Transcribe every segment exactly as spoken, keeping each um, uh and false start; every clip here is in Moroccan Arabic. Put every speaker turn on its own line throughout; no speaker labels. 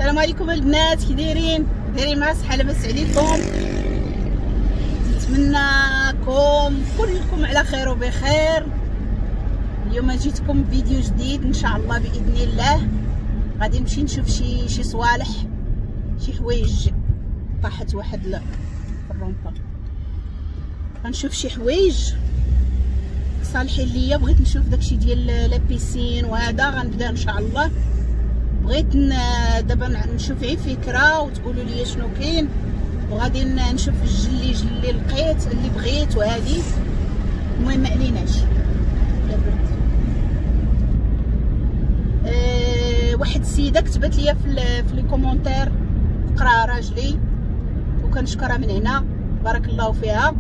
السلام عليكم البنات، كي دايرين؟ دايرين مع الصحة، لاباس عليكم؟ نتمنىكم كلكم على خير وبخير. اليوم جيتكم فيديو جديد ان شاء الله باذن الله. غادي نمشي نشوف شي شي صوالح، شي حوايج. طاحت واحد الرومبا، غنشوف شي حوايج صالحين ليا. بغيت نشوف داكشي ديال la piscine وهذا غنبدا ان شاء الله. بغيت دابا نشوف غير فكرة وتقولوا لي شنو كاين، وغادي نشوف الجليج اللي لقيت اللي بغيت وهذه. المهم ما عليناش. أه واحد السيدة كتبت لي في في les commentaires، قرا راجلي وكنشكرها من هنا، بارك الله فيها.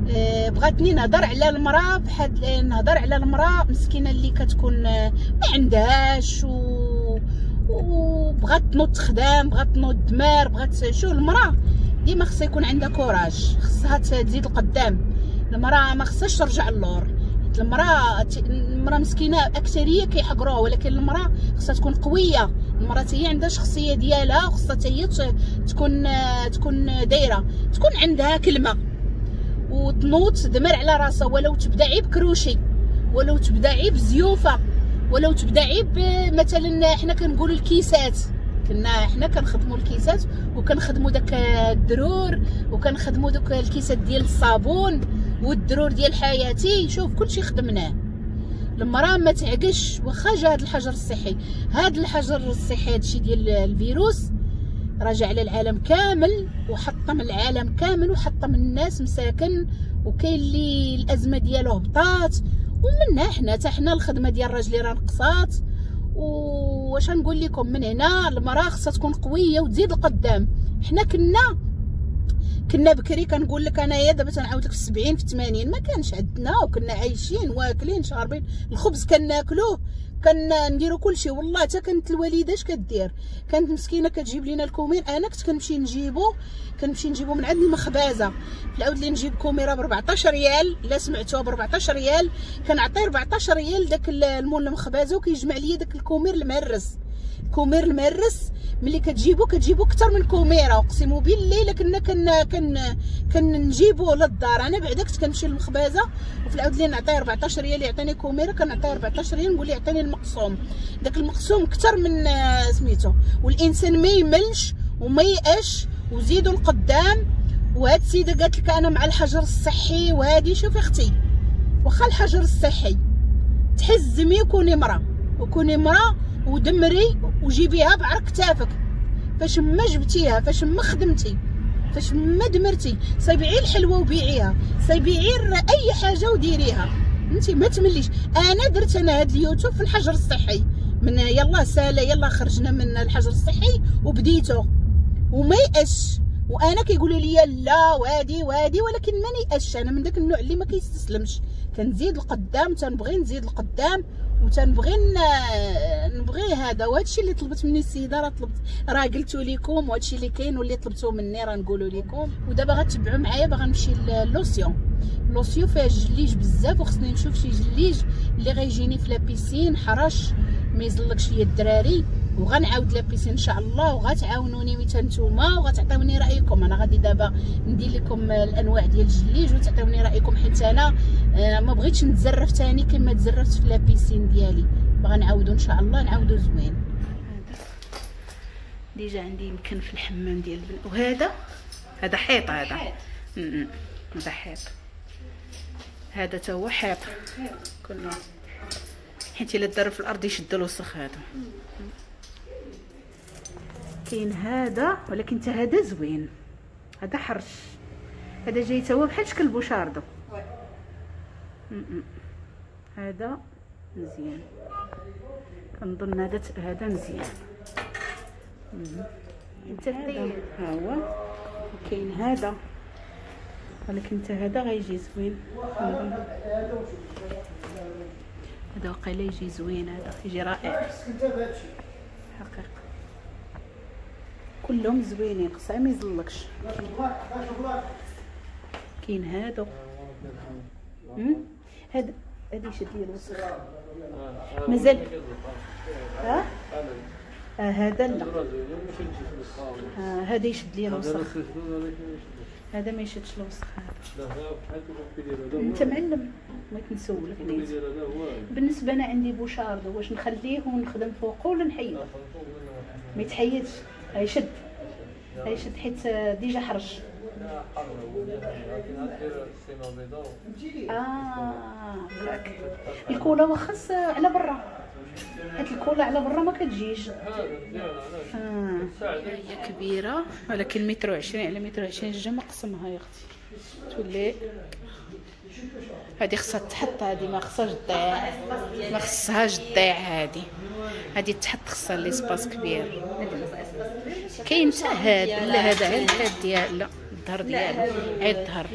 أه بغاتني نهضر على المراة، بحال نهضر على المراة مسكينه اللي كتكون ما عندهاش و وبغات تنوض تخدم، بغات تنوض دمار، بغات شو. المراة ديما خصها يكون عندها courage، خصها تزيد القدام. المراة ما خصهاش ترجع للور، حيت المراة المراة مسكينه اكثرية كيحقروها، ولكن المراة خصها تكون قوية. المراة هي عندها شخصية ديالها، وخصها هي تكون تكون دايرة، تكون عندها كلمة، وتنوض تدمر على راسها. ولو تبدا عيب كروشي، ولو تبدا عيب زيوفه، ولو تبدا عيب مثلا حنا كنقولوا الكيسات، كنا حنا كنخدموا الكيسات وكنخدموا داك الدرور وكنخدموا دوك الكيسات ديال الصابون والدرور ديال حياتي. شوف كلشي خدمناه. المراة ما تعقش واخا جا هذا الحجر الصحي. هذا الحجر الصحي هادشي ديال الفيروس راجع على العالم كامل وحطم العالم كامل وحطم الناس مساكن، وكاين اللي الازمة ديالو هبطات، ومنها حنا حتى حنا الخدمة ديال راجلي راه نقصات. واش نقول لكم، من هنا المراة خصها تكون قوية وتزيد القدام. حنا كنا كنا بكري كنقول لك انايا دابا تنعاود لك في السبعين في الثمانين ما كانش عندنا، وكنا عايشين واكلين شاربين الخبز كناكلوه، كنديروا كلشي. والله حتى كانت الوالدة اش كدير، كانت مسكينه كتجيب لينا الكومير. انا كنت كنمشي نجيبو كنمشي نجيبو من عند المخبازه. في العود اللي نجيب كوميره ب أربعطاش ريال، لا سمعتوها ب أربعطاش ريال، كنعطي أربعطاش ريال داك المول المخبازه، وكيجمع لي داك الكومير المهرس. الكومير المهرس ملي كتجيبو كتجيبو اكثر من كوميره، اقسم بالله الا كنا كن كن كنجيبوه للدار. انا بعدا كنت كنمشي للمخبازه، وفي العود اللي نعطيه أربعطاش ريال يعطيني كوميره، كنعطيه أربعطاش ريال نقول ليه يعطيني المقسوم. داك المقسوم اكثر من سميتو. والانسان ما يملش وما يأش وزيدوا القدام. وهاد السيدة قالت لك انا مع الحجر الصحي وهادي. شوفي اختي، واخا الحجر الصحي تحزمي وكوني مراة، وكوني مراة ودمري وجيبيها بعرق كتافك. فاش ما جبتيها، فاش ما خدمتي، فاش ما دمرتي، صيبعي الحلوة وبيعيها، صيبعي اي حاجة وديريها، انت ما تمليش. انا درت انا هاد اليوتيوب في الحجر الصحي، من يلا ساله يلا خرجنا من الحجر الصحي وبديته وما يأش. وانا كيقولوا لي لا وادي وادي، ولكن ما نيأش. انا من داك النوع اللي ما كيستسلمش، كنزيد القدام، تنبغي نزيد القدام وتنبغي نبغي هذا. وهذا الشيء اللي طلبت مني السيدة راه طلبت، راه قلتو لكم، وهذا الشيء اللي كاين واللي طلبتوه مني راه نقولوا لكم. ودابا غتبعوا معايا، باغا نمشي l'océan. l'océan فيها الجليج بزاف، وخصني نشوف شي جليج اللي غيجيني في la piscine حرش ما يزلقش ليا الدراري. وغنعاود la piscine ان شاء الله، وغتعاونوني متى نتوما وغتعطيوني رايكم. انا غادي دابا ندير لكم الانواع ديال الجليج وتعطيوني رايكم، حيت انا ما بغيتش نتزرف ثاني كما تزرفت في la piscine ديالي. باغا نعاودو ان شاء الله، نعاودو زوين. هذا déjà عندي يمكن في الحمام ديال البن، وهذا هذا حيط، هذا هذا حيط، هذا تا هو حيط كله، حيت الا دار في الارض يشد الوسخ. هذا كاين هذا، ولكن حتى هذا زوين، هذا حرش، هذا جاي تا هو بحال شكل بوشاردو. هذا مزيان، كنظن هذا هذا مزيان. انت ها هو كاين هذا، ولكن حتى هذا غيجي زوين. هذا وقيلا يجي زوين، هذا يجي رائع حقيقة. كلهم زوينين، خصها ما يزلقش. كاين هادو، هذا هذا يشد لي الوسخ مازال. ها آه هذا لا، آه هذا يشد لي الوسخ، هذا ما يشدش الوسخ. هذا انت معلم، بغيت نسولك نيت. بالنسبة انا عندي بوشاردو، واش نخليه ونخدم فوقه ولا نحيده؟ ما يتحيدش، يشد يشد حيت déjà حرج. اه ياك ال colle واخا على برا، حيت ال colle على برا ما كتجيش. آه. هي كبيرة ولكن متر وعشرين على متر وعشرين جا مقسمها يا اختي، تولي هذه خصها تحط، هذه ما خصهاش تضيع، ما خصهاش تضيع هذه، هذه تحط خصها l'espace كبير. كاين حتى هذا، لا هذا غير الحيط ديال، لا الظهر ديالو غير الظهر.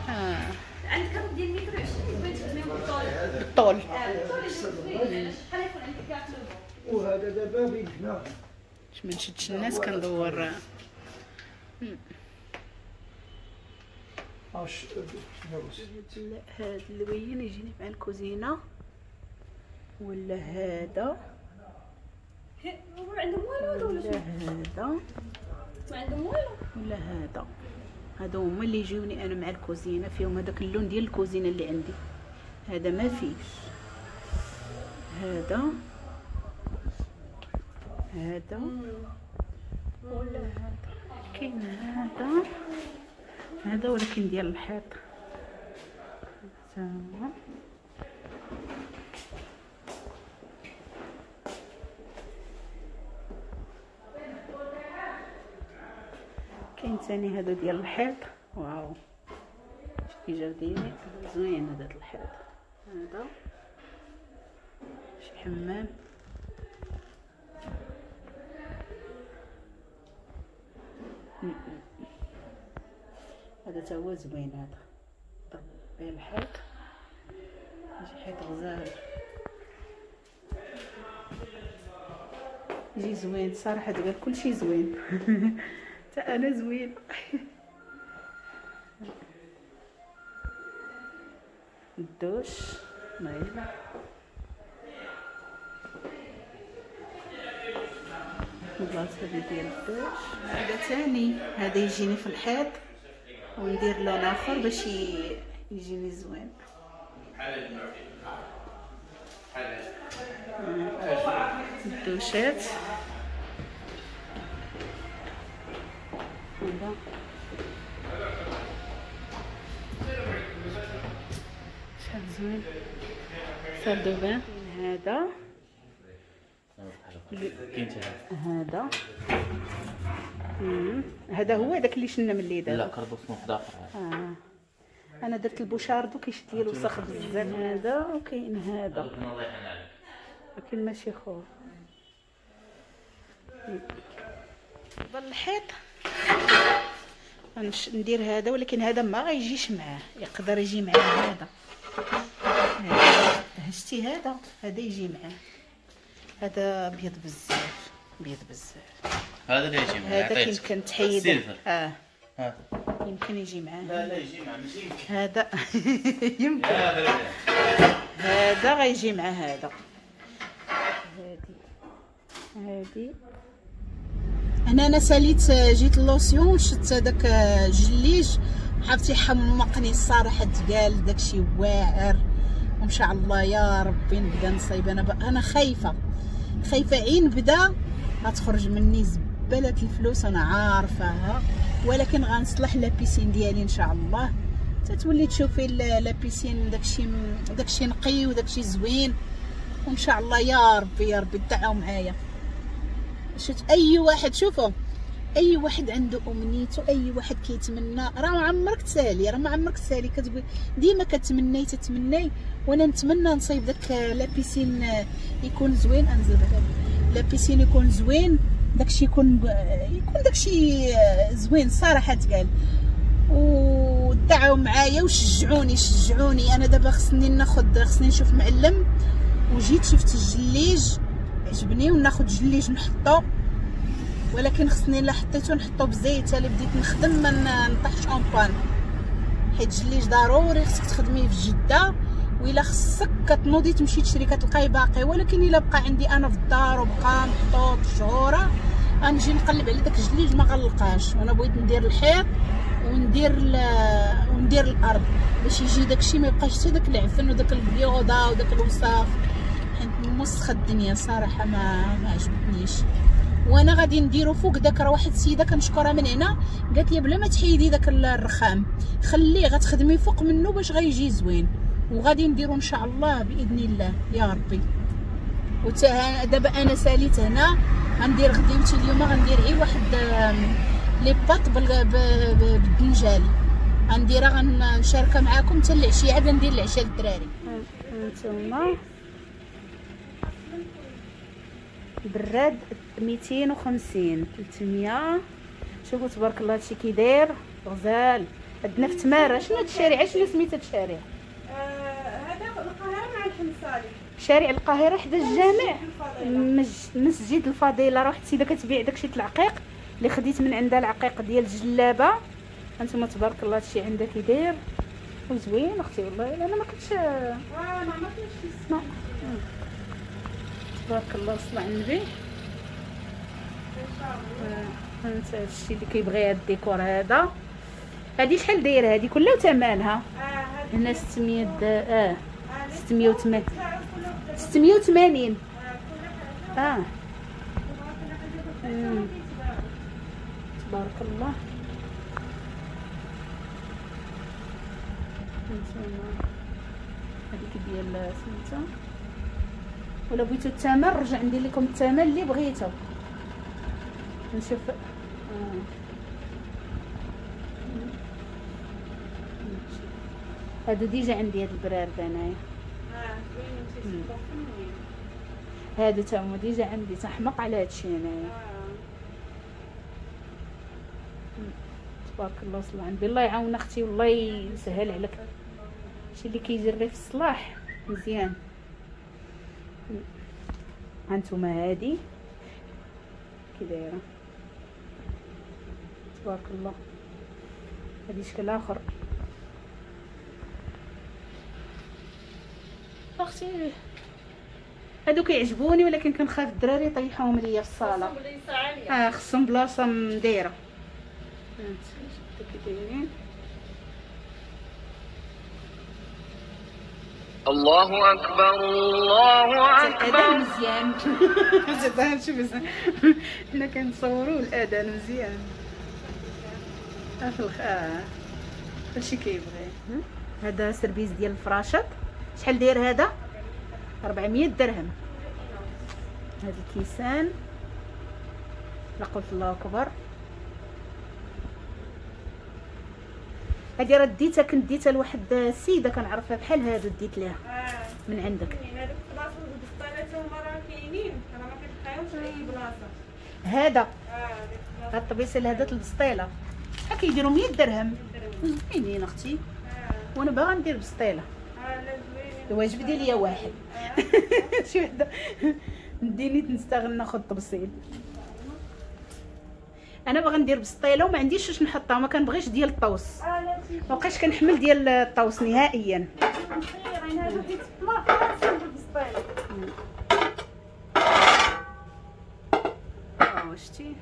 اه
عندك ديال متر وعشرين بغيتي تخدمي بالطول،
بالطول
شحال يكون عندك كاع؟
وهذا دابا بيدنا
باش ما نشدش الناس كندور.
اش
هاد اللوين يجيني مع الكوزينة ولا هذا؟
ما عندهم والو هذا ولا شنو؟
هذا
ما عندهم والو
ولا هذا؟ هادو هما اللي يجيوني انا مع الكوزينة، فيهم هذاك اللون ديال الكوزينة اللي عندي. هذا ما فيش، هذا هذا ولا هذا. كاين هذا هذا ولكن ديال الحيط. تمام. كاين ثاني هذا ديال الحيط، واو كي جاو دايرين زوين هذا الحيط. هذا شي حمام، هذا تا هو زوين. هذا ضرب به الحيط، يجي حيط غزال، يجي زوين صراحة. تقال كلشي زوين حتى انا زوين. الدوش نايله، البلاصة هذه ديال الدوش. هذا ثاني هذا يجيني في الحيط وندير لون اخر باش يجيني زوين. الدوشات هذا شحال زوين، salle de bain. هذا هذا هذا هو داك اللي شلنا من اللي دار.
لا كربوس واحد اخر.
آه. انا درت البوشاردو كيشد لي الوسخ بزاف. هذا وكاين هذا ولكن ماشي خو. بالحيط ندير هذا، ولكن هذا ما غيجيش معاه، يقدر يجي معاه هذا. هشتي هذا هذا يجي معاه. هذا ابيض بزاف، ابيض بزاف.
هذا اللي يجي معاه،
هذا يمكن تحيد. اه
ها
يمكن يجي معاه.
لا لا يجي معاه، ماشي يمكن
هذا يمكن هذا غيجي مع هذا. هادي هادي
انا انا ساليت، جيت لوسيون شفت هذاك الجليج، عرفتي حمقني الصراحة، تقال داكشي واعر. وان شاء الله يا ربي نبدا نصايب. انا انا خايفة خايفة عين بدا غتخرج مني زبالة الفلوس، انا عارفاها، ولكن غنصلح la piscine ديالي ان شاء الله. تتولي تشوفي la piscine داكشي داكشي نقي وداكشي زوين، وان شاء الله يا ربي يا ربي تدعوا معايا. شفت اي واحد، شوفوا اي واحد عنده امنيته، اي واحد كيتمنى، راه عمرك تسالي، راه ما عمرك تسالي، كتقول ديما كتمناي تتمناي. وانا نتمنى نصايب داك la piscine يكون زوين، انزل la piscine يكون زوين، داكشي يكون يكون داكشي زوين صراحة تقال. ودعوا معايا وشجعوني شجعوني. انا دابا خصني ناخذ، خصني نشوف معلم، وجيت شفت الجليج عجبني وناخذ جليج نحطو، ولكن خصني الا حطيته نحطو بزيت. اللي بديت نخدم ما نطيحش en panne، حيت الجليج ضروري خصك تخدميه في جده
وإلا خصك كتنوضي تمشي تشري كتلقاي باقي. ولكن الا بقى عندي انا في الدار وبقى محطوط شهوره غنجي نقلب على داك الجليج ما غنلقاش. وانا بغيت ندير الحيط وندير وندير الارض باش يجي داكشي ما يبقاش حتى داك العفن وداك البيوضه وداك الوساخ، حيت موسخه الدنيا صراحة ما ما عجبتنيش. وانا غادي نديرو فوق داك، راه واحد السيدة كنشكرها من هنا قالت لي بلا ما تحيدي داك الرخام خليه غتخدمي فوق منه باش غيجي زوين. وغادي نديرو ان شاء الله باذن الله يا ربي. وتا دابا انا ساليت هنا غندير غديوتي اليوم، غندير غير واحد les pâtes بالدنجال غنديرها غنشاركها معاكم حتى العشية، عاد ندير العشاء للدراري. هانتوما براد ميتين وخمسين ثلاثمية. شوفوا تبارك الله هادشي كي داير غزال. عندنا في تماره. شنو هاد الشارع؟ شنو سميت هاد الشارع؟
هذا القاهرة مع الحمصالي،
شارع القاهرة حدا الجامع مسجد الفضيلة. راه واحد السيدة كتبيع داكشي العقيق اللي خديت من عندها العقيق ديال الجلابه. هانتوما تبارك الله هادشي عندها كي داير وزوين اختي والله. انا ما كنتش
اه ما عمرتش
تبارك الله صلى على النبي. انت هادشي اللي كيبغي هاد الديكور هذا. هادي شحال دايرة هادي كلها وثمنها؟ هنا ستمية اه ستمية وثمانين ستمية وثمانين اه تبارك الله. هذيك ديال سميتها. ولا بغيتو الثمن رجع ندير لكم الثمن اللي بغيتو. نشوف آه. هادو déjà عندي هاد البرارد انايا.
اه زوين
هادو تا هما déjà عندي، تنحمق على هادشي انايا. تبارك الله صلى على النبي. الله يعاون اختي والله يسهل عليك. هادشي اللي كيجري في الصلاح مزيان. هانتوما هادي كي دايرة تبارك الله. هادي شكل اخر اختي. هادو كيعجبوني ولكن كنخاف الدراري يطيحوهم ليا في الصاله. اه خصهم بلاصة مدايره. هانتوما كي دايرين.
الله اكبر الله اكبر.
الاذان مزيان. شوف حنا كنصوروا الاذان مزيان. في اه كلشي كيبغي. هذا service ديال الفراشط شحال داير هذا؟ أربعمية درهم. هاد الكيسان لا قلت الله اكبر. هادي راه ديتها، كنت ديتها لواحد السيدة كنعرفها بحال هادو ديت ليها آه. من عندك.
هادوك البلاصة والبسطالات هما راه كاينين، راه ما كتلقايهمش في اي بلاصة.
هذا
اه
هاد الطبيسه هذا البسطيله شحال كيديروا؟ مية درهم. زوينين اختي. آه. وانا باغا ندير بسطيله.
اه لا زوينين.
ايوا جبدي ليا واحد. آه. شي وحده نديني نستغل ناخذ طبسيل. انا باغا ندير بسطيله وما عنديش واش نحطها، ما كنبغيش ديال الطوس. ما بقيتش كنحمل ديال الطوس نهائيا. اه شتي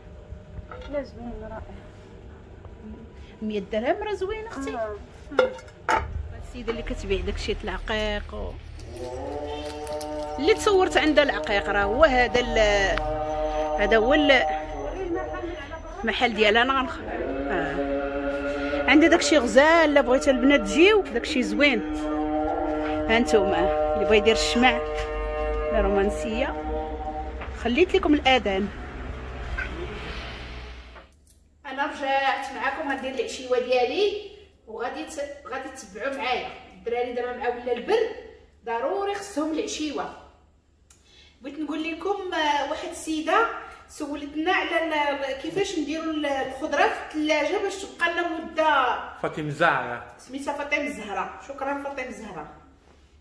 لا زوين رائع.
مية درهم راه زوين اختي. السيدة اللي كتبيع داكشي العقيق و... اللي تصورت عندها العقيق راه هو هذا ال... هذا هو المحل ديالها. انا غنخ آه. عندي داكشي غزال. لا بغيتو البنات تجيو داكشي زوين. ها انتما اللي بغا يدير الشمع الرومانسية. خليت لكم الاذان. انا رجعت معكم غندير العشيوه ديالي وغادي ت... غادي تتبعوا معايا. الدراري دابا مع ولا البرد ضروري خصهم العشيوه. بغيت نقول لكم واحد السيدة سولتنا على كيفاش نديروا الخضرة في الثلاجة باش تبقى لنا مده.
فاطمة الزهراء
سميتها فاطمة الزهراء. شكرا فاطمة الزهراء.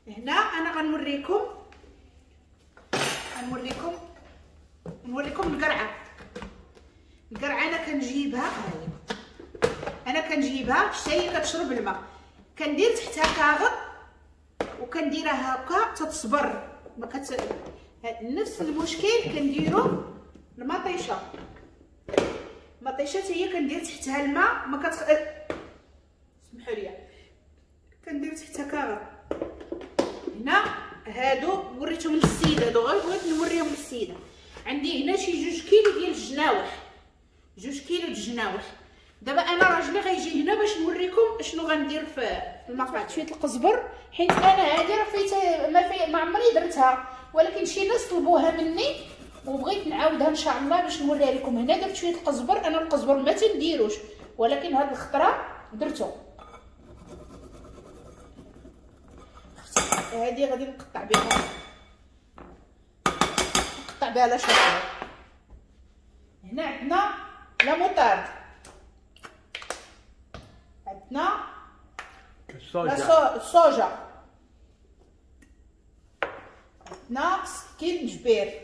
هنا انا غنوريكم غنوريكم نوريكم القرعة. القرعة انا كنجيبها انا كنجيبها حتى هي كتشرب الماء. كندير تحتها كاغط وكنديرها هكا تتصبر ما كت نفس المشكل كنديرو المطيشه. المطيشه هي كندير تحتها الماء ما كتخ سمحوا لي كندير تحتها كاغط. هنا هادو وريتهم للسيدة، هادو غير بغيت نوريهم للسيدة. عندي هنا شي جوج كيلو ديال الجناوح، جوج كيلو ديال الجناوح. دابا انا راجلي غيجي هنا باش نوريكم شنو غندير في المقطع. شوية القزبر حيت انا هادي راه فيت ما في ما عمري درتها، ولكن شي ناس طلبوها مني وبغيت نعاودها ان شاء الله باش نوريها لكم. هنا درت شوية القزبر، انا القزبر ما تنديروش ولكن هاد الخطرة درتو. هادي غادي نقطع بها، نقطع بها la chapelure. هنا عندنا la moutarde، عندنا la soja، عندنا سكينجبير،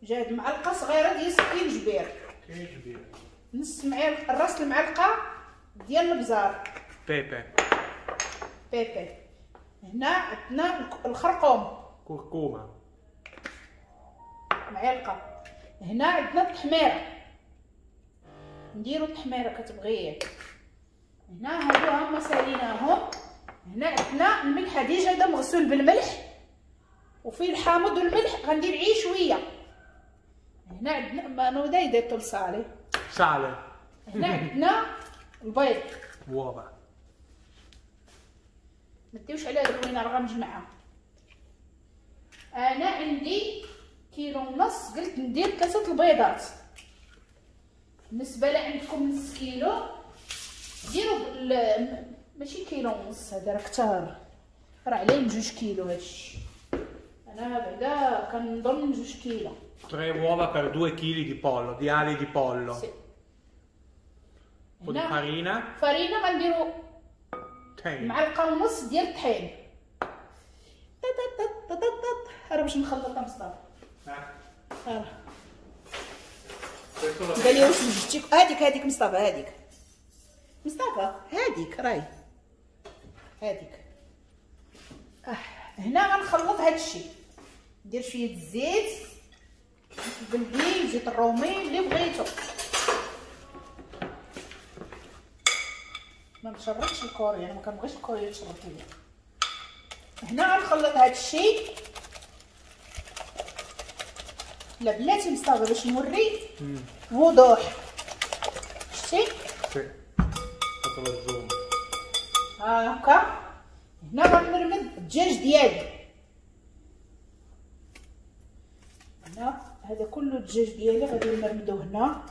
جايب معلقه صغيرة ديال سكينجبير، نص معلقه راس المعلقة ديال البزار،
pepe
pepe. هنا عندنا الخرقوم،
كركومه
معلقه. هنا عندنا التحميره، نديرو التحميره كتبغيه. هنا هادو هما ساليناهم. هنا عندنا الملح، déjà هذا مغسول بالملح وفيه الحامض والملح، غندير عيه شوية. هنا عندنا ما non hai detto il sale
sale.
هنا عندنا البيض
uova.
ما ديوش على هاد الروينه راه غنجمعها. انا عندي كيلو ونص، قلت ندير ثلاثة البيضات. بالنسبة لعندكم نص كيلو ديروا ماشي كيلو ونص، هذا راه كثر، راه عليه جوج كيلو هادشي. انا بعدا كنظن جوج كيلو.
Tre uova per due chili di pollo, di ali di pollo.
Sì.
Un po' di farina.
farina غنديرو معلقه ونص ديال الطحين. تا تا تا تا راه باش نخلطها مصطفى. راه قال لي واش وجدتي هذيك هذيك مصطفى، هذيك مصطفى هذيك راهي هذيك. آه. هنا غنخلط هادشي، ندير شوية الزيت البلدي، زيت الرومي اللي بغيتو. ما نشربش الكوري، انا ما كنبغيش الكوري يتشرب ليا. هنا غنخلط هادشي. لا بلاتي مصطفى باش نوري وضوح. شتي هاكا. هنا غنرمد الدجاج ديالي. هنا هذا كله الدجاج ديالي غادي نرمدو هنا.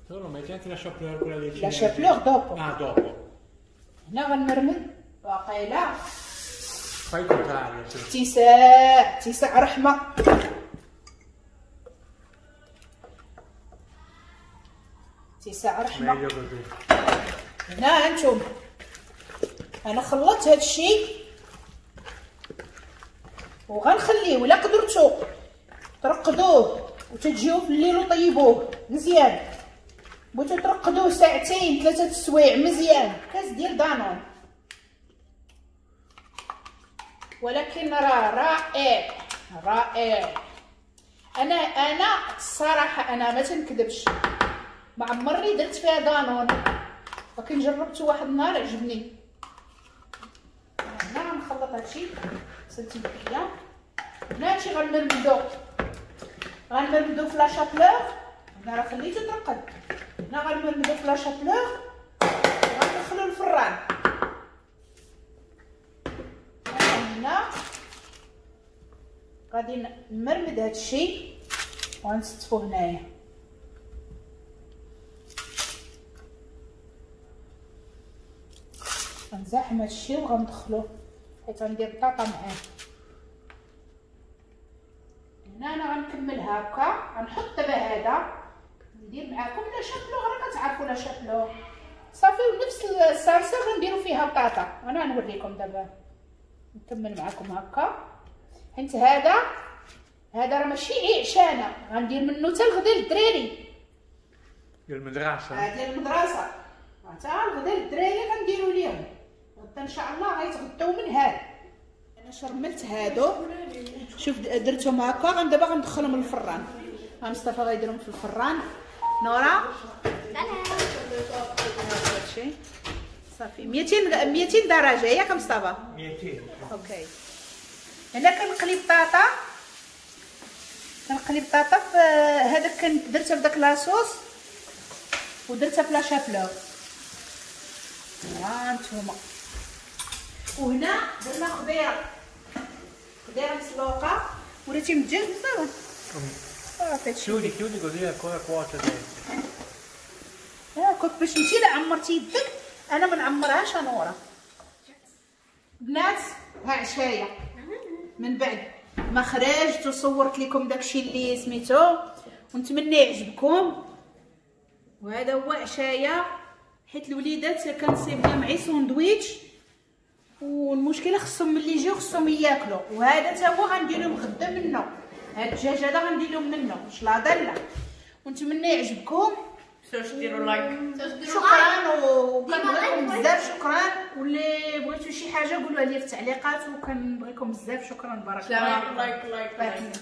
Non, metti anche la chapelure quella dei
La chapelure dopo.
Ah, dopo.
هنا غنرمد واقيلا.
Fai il contrario. Sì.
تساع تساع رحمة. تساع رحمة.
Meglio così.
هنا انتم انا خلطت هاد الشيء وغنخليه، ولا قدرتو ترقدوه وتجيو في الليل وطيبوه مزيان. بغيتو ترقدوه ساعتين ثلاثة السوايع مزيان. كاس ديال دانون، ولكن راه رائع رائع. انا انا الصراحة انا ما تنكذبش، ما عمرني درت فيها دانون، ولكن جربته واحد النهار عجبني. هنا غنخلط هادشي سنتي بيا. هنا هادشي غنمرمدو، غنمرمدو في la chapelure. هنا راه خليته ترقد. هنا غنمرمدو في la chapelure وغندخلو الفران. هنا غادي نمرمد هادشي وغنستفو هنايا. غنزاحم هادشي وغندخلو حيت غندير بطاطا معاه. هنا انا غنكمل هكا، غنحط دابا هذا ندير معاكم la chapelure، راه كتعرفوا la chapelure صافي. ونفس الصلصه غنديرو فيها بطاطا. انا غنوريكم دابا نكمل معاكم هكا، حيت هذا هذا راه ماشي عشانه، غندير منه حتى الغدا للدراري
ديال المدرسة.
ديال المدرسة حتى الغدا للدراري غنديرو ليهم. غدا غدا ان شاء الله غيتغداو من هذا. انا شرملت هادو، شوف درتهم هكا، غن دابا غندخلهم للفران. ها مصطفى غيديرهم في الفران. نورا سلام. صافي ميتين ميتين درجه ياك مصطفى؟
ميتين.
OK. هنا كنقلي بطاطا، كنقلي بطاطا في هذاك كنت درتها في داك la sauce ودرتها في la chapelure. ها انتما. وهنا درنا خضيره، خضيره مسلوقة. وريتي من الدجاج مصطفى؟ صافي.
Chiudi, chiudi così ancora cuoce dentro.
هاكاك باش انتي لا عمرتي يدك، انا ما نعمرهاش نورا. بنات ها عشايه من بعد ما خرجت وصورت لكم داكشي اللي سميتو، ونتمنى يعجبكم. وهذا هو عشايه، حيت الوليدات كنصيب لهم عي ساندويتش، والمشكلة خصهم ملي يجيو خصهم ياكلوا. وهذا تا هو غندير لهم غدا منه، هاد الدجاج هذا غندير لهم منه شلاضه لا. ونتمنى يعجبكم.
تنساوش ديروا like.
شكرا وكنبغيكم بزاف، شكرا. واللي بغيتو شي حاجة قولوها لي في التعليقات، وكنبغيكم بزاف. شكرا، بارك الله.
like like like.